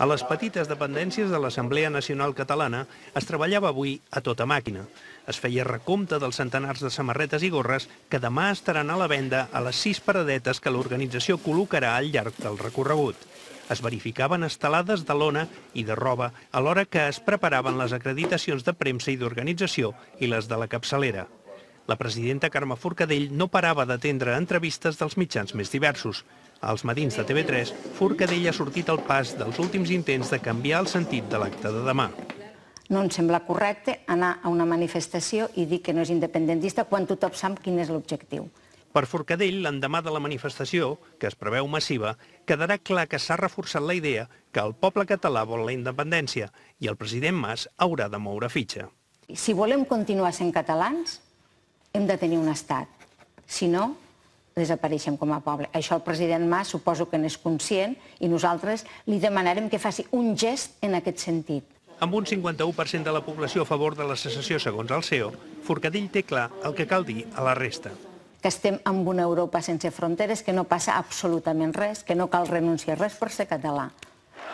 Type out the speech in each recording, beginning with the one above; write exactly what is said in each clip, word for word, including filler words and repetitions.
A les petites dependències de l'Assemblea Nacional Catalana es treballava avui a tota màquina. Es feia recompte dels centenars de samarretes i gorres que demà estaran a la venda a les sis paradetes que l'organització col·locarà al llarg del recorregut. Es verificaven estelades de lona i de roba alhora que es preparaven les acreditacions de premsa i d'organització i les de la capçalera. La presidenta Carme Forcadell no parava d'atendre entrevistes dels mitjans més diversos. Als matins de T V tres, Forcadell ha sortit al pas dels últims intents de canviar el sentit de l'acte de demà. No em sembla correcte anar a una manifestació i dir que no és independentista quan tothom sap quin és l'objectiu. Per Forcadell, l'endemà de la manifestació, que es preveu massiva, quedarà clar que s'ha reforçat la idea que el poble català vol la independència i el president Mas haurà de moure fitxa. Si volem continuar sent catalans, hem de tenir un estat. Si no, desapareixem com a poble. Això el president Mas suposo que n'és conscient i nosaltres li demanarem que faci un gest en aquest sentit. Amb un cinquanta-u per cent de la població a favor de la secessió segons el C E O, Forcadell té clar el que cal dir a la resta. Que estem en una Europa sense fronteres, que no passa absolutament res, que no cal renunciar a res per ser català.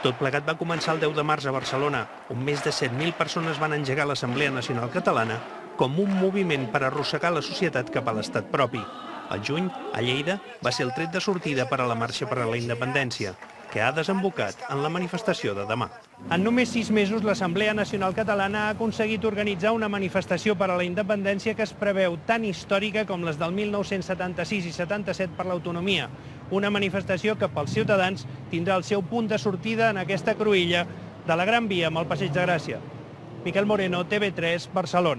Tot plegat va començar el deu de març a Barcelona, on més de set mil persones van engegar l'Assemblea Nacional Catalana com un moviment per arrossegar la societat cap a l'estat propi. Al juny, a Lleida, va ser el tret de sortida per a la Marxa per a la Independència, que ha desembocat en la manifestació de demà. En només sis mesos, l'Assemblea Nacional Catalana ha aconseguit organitzar una manifestació per a la independència que es preveu tan històrica com les del mil nou-cents setanta-sis i setanta-set per l'autonomia. Una manifestació que pels ciutadans tindrà el seu punt de sortida en aquesta cruïlla de la Gran Via amb el Passeig de Gràcia. Miquel Moreno, T V tres, Barcelona.